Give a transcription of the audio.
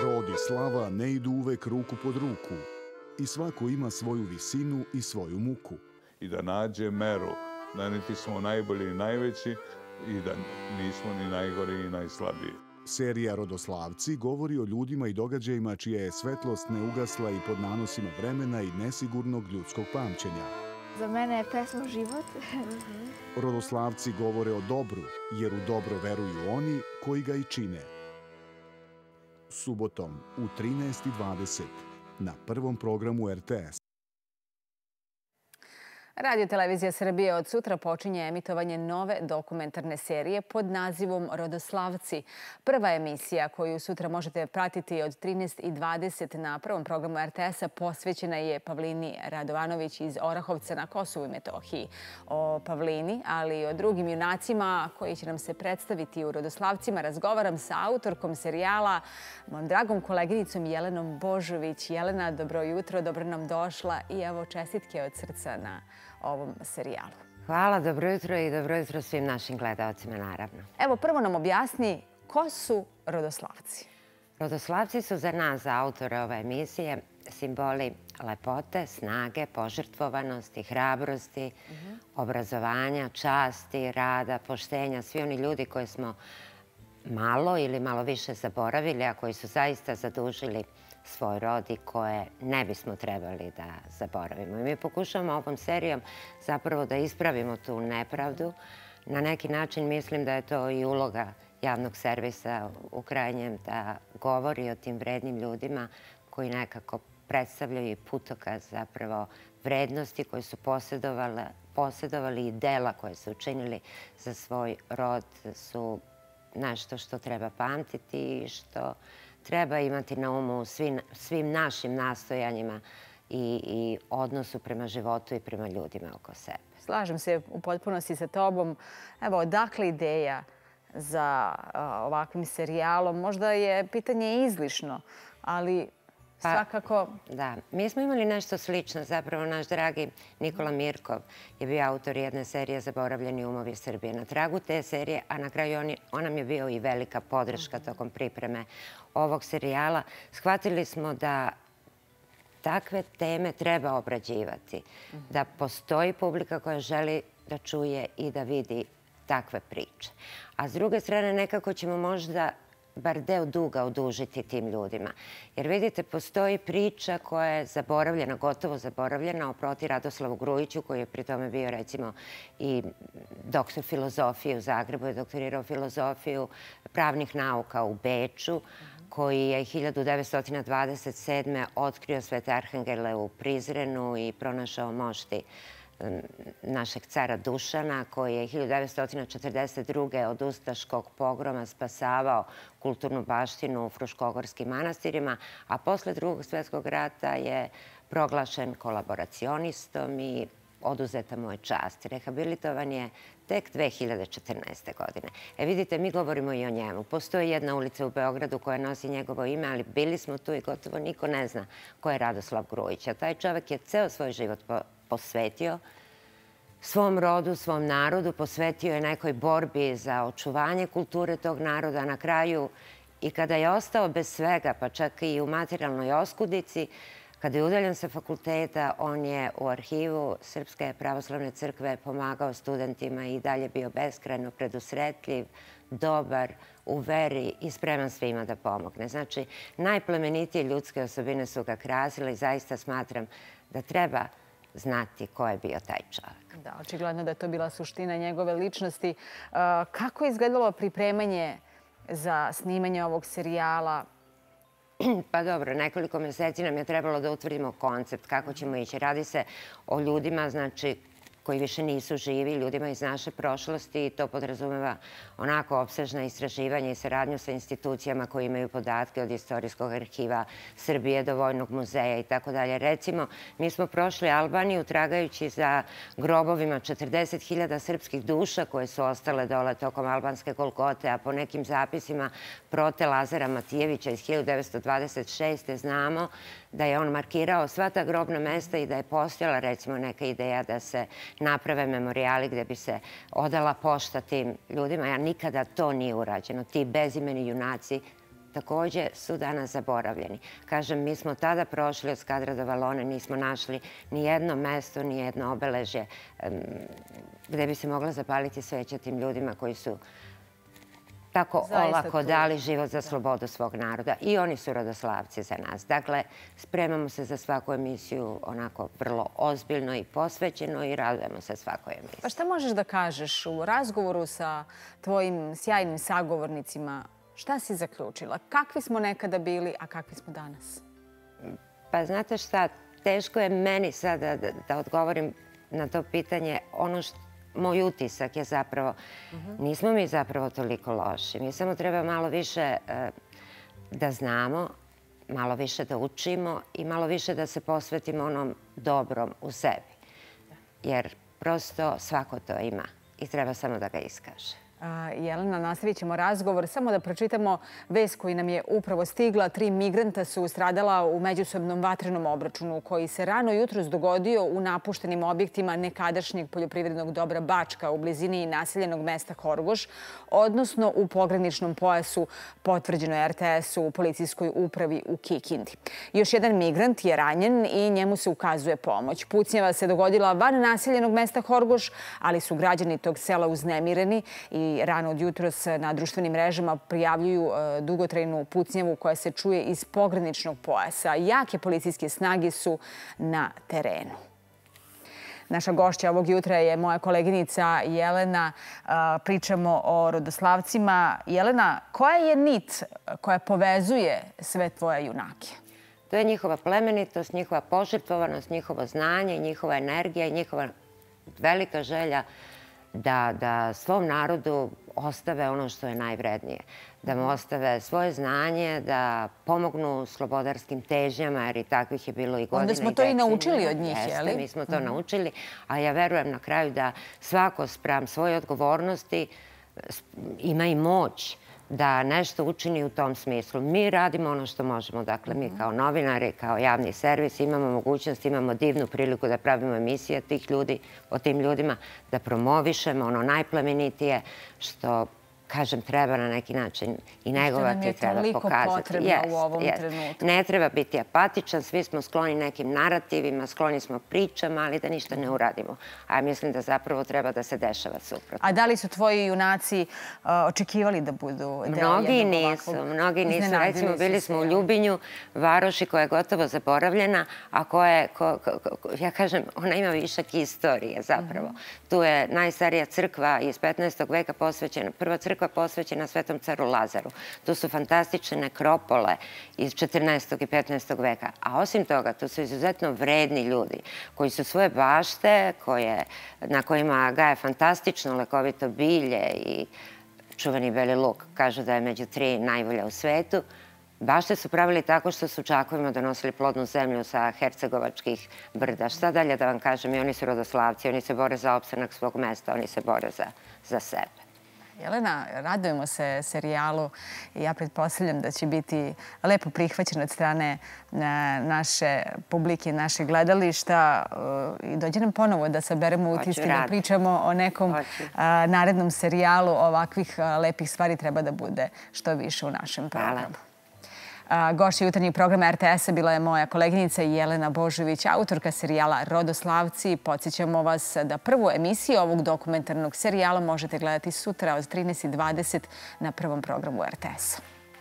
Rod i slava ne idu uvek ruku pod ruku i svako ima svoju visinu i svoju muku. I da nađe meru, da niti smo najbolji i najveći i da nismo ni najgori i najslabiji. Serija Rodoslavci govori o ljudima i događajima čija je svetlost ne ugasla i pod nanosima vremena i nesigurnog ljudskog pamćenja. Za mene je pesma život. Rodoslavci govore o dobru, jer u dobro veruju oni koji ga i čine. Subotom u 13:20 na prvom programu RTS. Radio Televizija Srbije od sutra počinje emitovanje nove dokumentarne serije pod nazivom Rodoslavci. Prva emisija koju sutra možete pratiti od 13:20 na prvom programu RTS-a posvećena je Pavlini Radovanović iz Orahovca na Kosovu i Metohiji. O Pavlini, ali i o drugim junacima koji će nam se predstaviti u Rodoslavcima razgovaram sa autorkom serijala, mojom dragom koleginicom Jelenom Božović. Jelena, dobro jutro, dobro nam došla i evo čestitke od srca na ovom serijalu. Hvala, dobro jutro i dobro jutro svim našim gledalcima, naravno. Evo, prvo nam objasni ko su Rodoslavci. Rodoslavci su za nas, za autore ove emisije, simboli lepote, snage, požrtvovanosti, hrabrosti, obrazovanja, časti, rada, poštenja. Svi oni ljudi koje smo malo ili malo više zaboravili, a koji su zaista zadužili svoj rod i koje ne bismo trebali da zaboravimo. I mi pokušavamo ovom serijom zapravo da ispravimo tu nepravdu. Na neki način mislim da je to i uloga javnog servisa u krajnjem da govori o tim vrednim ljudima koji nekako predstavljaju i putokaz zapravo vrednosti koje su posjedovali i dela koje su učinili za svoj rod su nešto što treba pamtiti i što treba imati na umu u svim našim nastojanjima i odnosu prema životu i prema ljudima oko sebe. Slažem se u potpunosti sa tobom. Evo, odakle ideja za ovakvim serijalom? Možda je pitanje izlišno, ali svakako... Da, mi smo imali nešto slično. Zapravo, naš dragi Nikola Mirkov je bio autor jedne serije Zaboravljeni umovi Srbije. Na tragu te serije, a na kraju on nam je bio i velika podrška tokom pripreme ovog serijala. Shvatili smo da takve teme treba obrađivati. Da postoji publika koja želi da čuje i da vidi takve priče. A s druge strane, nekako ćemo možda bar deo duga odužiti tim ljudima. Jer vidite, postoji priča koja je zaboravljena, gotovo zaboravljena, o proti Radoslavu Grujiću, koji je pri tome bio, recimo, i doktor filozofije u Zagrebu, je doktorirao filozofiju pravnih nauka u Beču, koji je 1927. otkrio Svete Arhangele u Prizrenu i pronašao mošti našeg cara Dušana, koji je 1942. od ustaškog pogroma spasavao kulturnu baštinu u Fruškogorskim manastirima, a posle Drugog svjetskog rata je proglašen kolaboracionistom i oduzeta mu je čast. Rehabilitovan je tek 2014. godine. Vidite, mi govorimo i o njemu. Postoji jedna ulica u Beogradu koja nosi njegovo ime, ali bili smo tu i gotovo niko ne zna ko je Radoslav Grujić. A taj čovek je ceo svoj život posvetio svom rodu, svom narodu, posvetio je nekoj borbi za očuvanje kulture tog naroda. Na kraju, i kada je ostao bez svega, pa čak i u materijalnoj oskudici, kada je udaljen sa fakulteta, on je u arhivu Srpske pravoslavne crkve pomagao studentima i dalje bio beskrajno predusretljiv, dobar, u veri i spreman svima da pomogne. Znači, najplemenitije ljudske osobine su ga krasile i zaista smatram da treba znati ko je bio taj čovjek. Da, očigledno da je to bila suština njegove ličnosti. Kako je izgledalo pripremanje za snimanje ovog serijala? Pa dobro, nekoliko mjeseci nam je trebalo da utvrdimo koncept kako ćemo ići. Radi se o ljudima, znači, koji više nisu živi, ljudima iz naše prošlosti i to podrazumeva onako opsežna istraživanja i saradnju sa institucijama koji imaju podatke od Istorijskog arhiva Srbije do Vojnog muzeja i tako dalje. Recimo, mi smo prošli Albaniju tragajući za grobovima 40.000 srpskih duša koje su ostale dole tokom albanske Golgote, a po nekim zapisima Prote Lazara Matijevića iz 1926. znamo da je on markirao sva ta grobna mesta i da je postojala, recimo, neka ideja da se naprave memorijali gdje bi se odala pošta tim ljudima. Nikada to nije urađeno. Ti bezimeni junaci također su danas zaboravljeni. Kažem, mi smo tada prošli od Skadra do Valone, nismo našli ni jedno mesto, ni jedno obeležje gde bi se mogla zapaliti sveća tim ljudima koji su tako olako dali život za slobodu svog naroda. I oni su rodoslavci za nas. Dakle, spremamo se za svaku emisiju onako vrlo ozbiljno i posvećeno i radujemo se svakoj emisiji. Pa šta možeš da kažeš u razgovoru sa tvojim sjajnim sagovornicima? Šta si zaključila? Kakvi smo nekada bili, a kakvi smo danas? Pa znate šta, teško je meni sada da odgovorim na to pitanje. Moj utisak je zapravo, nismo mi zapravo toliko loši. Mi samo treba malo više da znamo, malo više da učimo i malo više da se posvetimo onom dobrom u sebi. Jer prosto svako to ima i treba samo da ga iskaže. Jelena, nastavit ćemo razgovor. Samo da pročitamo vest koji nam je upravo stigla. 3 migranta su stradala u međusobnom vatrenom obračunu koji se rano jutros dogodio u napuštenim objektima nekadašnjeg poljoprivrednog dobra Bačka u blizini naseljenog mesta Horgoš, odnosno u pograničnom pojasu, potvrđeno je RTS-u u policijskoj upravi u Kikindi. Još jedan migrant je ranjen i njemu se ukazuje pomoć. Pucnjava se dogodila van naseljenog mesta Horgoš, ali su građani tog sela uznemireni i rano od jutros na društvenim mrežama prijavljuju dugotrajnu pucnjavu koja se čuje iz pograničnog pojasa. Jake policijske snage su na terenu. Naša gošća ovog jutra je moja koleginica Jelena. Pričamo o rodoslavcima. Jelena, koja je nit koja povezuje sve tvoje junake? To je njihova plemenitost, njihova požrtvovanost, njihovo znanje, njihova energija i njihova velika želja da svom narodu ostave ono što je najvrednije. Da mu ostave svoje znanje, da pomognu slobodarskim težnjama, jer i takvih je bilo i godine i decenija. Onda smo to i naučili od njih, je li? Jeste, mi smo to naučili, a ja verujem na kraju da svako spram svoje odgovornosti ima i moć da nešto učini u tom smislu. Mi radimo ono što možemo. Dakle, mi kao novinari, kao javni servis imamo mogućnost, imamo divnu priliku da pravimo emisije tih ljudi, o tim ljudima, da promovišemo ono najplemenitije što, kažem, treba na neki način i negovati, treba pokazati. Što nam je toliko potrebno u ovom trenutku. Ne treba biti apatičan, svi smo skloni nekim narativima, skloni smo pričama, ali da ništa ne uradimo. A ja mislim da zapravo treba da se dešava suprotno. A da li su tvoji junaci očekivali da budu deo jednog ovakvog? Mnogi nisu. Recimo, bili smo u Ljubinju, varoši koja je gotovo zaboravljena, a koja, ja kažem, ona ima višak istorije zapravo. Tu je najstarija crkva iz 15. veka posvećena, prva crkva posvećena Svetom caru Lazaru. Tu su fantastične nekropole iz 14. i 15. veka. A osim toga, tu su izuzetno vredni ljudi koji su svoje bašte, na kojima gaje fantastično lekovito bilje i čuveni beli luk. Kažu da je među 3 najbolja u svetu. Bašte su pravili tako što su čakovima donosili plodnu zemlju sa hercegovačkih brda. Šta dalje da vam kažem? I oni su rodoslavci, oni se bore za opstanak svog mesta, oni se bore za sebe. Jelena, radujemo se serijalu i ja pretpostavljam da će biti lepo prihvaćen od strane naše publike, naše gledališta. I dođe nam ponovo da saberemo utiske, da pričamo o nekom narednom serijalu. Ovakvih lepih stvari treba da bude što više u našem programu. Gošća jutarnjeg programa RTS-a bila je moja koleginica Jelena Božović, autorka serijala Rodoslavci. Podsjećamo vas da prvu emisiju ovog dokumentarnog serijala možete gledati sutra od 13:20 na prvom programu RTS-a.